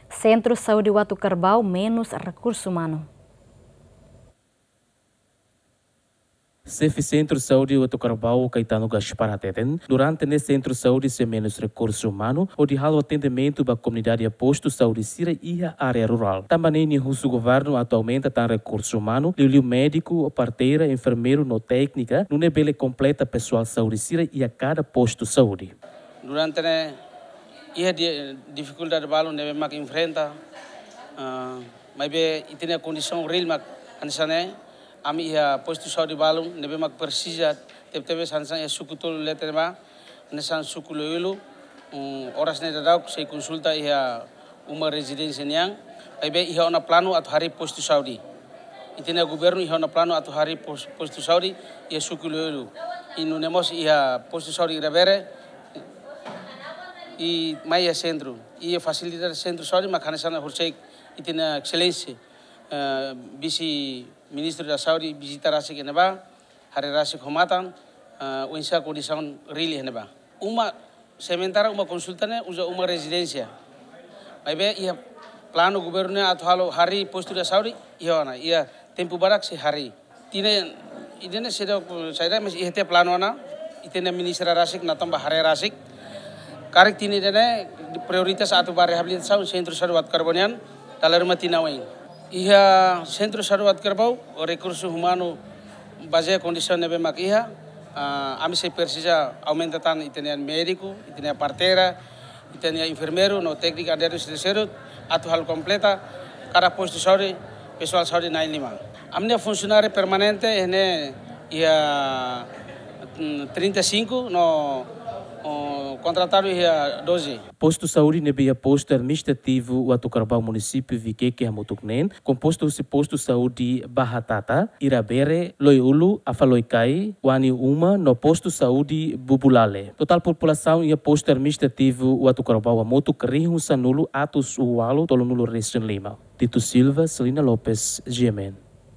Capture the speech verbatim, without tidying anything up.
Sentru Saúde Uatucarbau menus rekursu umanu. Xefe Sentru Saúde Uatucarbau, Caetano Gaspar, hateten, durante ne'e sentru saúde sei menus rekursu umanu hodi halo atendimentu ba komunidade iha postu saúde sira iha área rurál. Tanba ne'e nia husu governu atu aumenta tan rekursu umanu, liuliu médiku, parteira, enfermeiru no téknika, nune'e bele kompleta pesoál saúde sira iha kada postu saúde. Durante ne'e iha di-, difikuldade balu ne'ebé mak enfrenta, ah, maibé ita-nia kondisaun reál mak hanesan ne'e, ami iha postu saúde balu ne'ebé mak presiza, tebe-tebes hanesan iha suku tolu leten ba, hanesan suku Loiulu, um, oras ne'e daudauk sei konsulta iha uma rezidénsia nian, maibé iha ona planu atu harii postu saúde. Ita-nia governu iha ona planu atu harii pos-, postu saúde iha suku Loiulu. I nune'e mós iha postu saúde Irabere, i mai iha sentru. Iha fasilidade sentru saúde mak hanesan ne'e horiseik ita-nia Exelénsia, eh, Vise-Ministru da Saúde vizita rasik iha ne'ebá, haree rasik ho matan, eh, oinsá kondisaun reál iha ne'ebá. Uma, sementara uma konsulta ne'e uza uma rezidénsia. Maibé iha planu governu ne'e atu halo harii postu da saúde, iha ona, iha tempu badak sei harii. Tinan ida-ne'e seidauk, seidauk, mas iha tiha planu ona, ita-nia ministra rasik, Nathan ba haree rasik. Karik tinan ida-ne'e prioritas atu ba reabilitasaun sentru saúde Uatucarbau nian, dala ruma tinan oin. Iha sentru saúde Uatucarbau, rekursu umanu bazeia kondisaun ne'ebé mak iha, ah, ami sei presiza aumenta tan ita-nia médiku, ita-nia parteira, ita-nia enfermeiru, no téknika aderu sira seluk, atu halo kompleta kada postu saúde, pesoál saúde na'in lima. Ami-nia funsionáriu permanente, ne'e iha, mm, trinta e cinco, no, oh, kontratadu iha doze. Postu saúde ne'ebé iha postu administrativu Uatucarbau, munisípiu Viqueque hamutuk neen, kompostu husi postu saúde Bahatata, Irabere, Loiulu, Afaloicai, Uani Uma, no postu saúde Bubulale. Totál populasaun iha postu administrativu Uatucarbau hamutuk rihun sanulu atus ualu tolunulu resin lima. Tito Silva, Celina Lopes, G M N.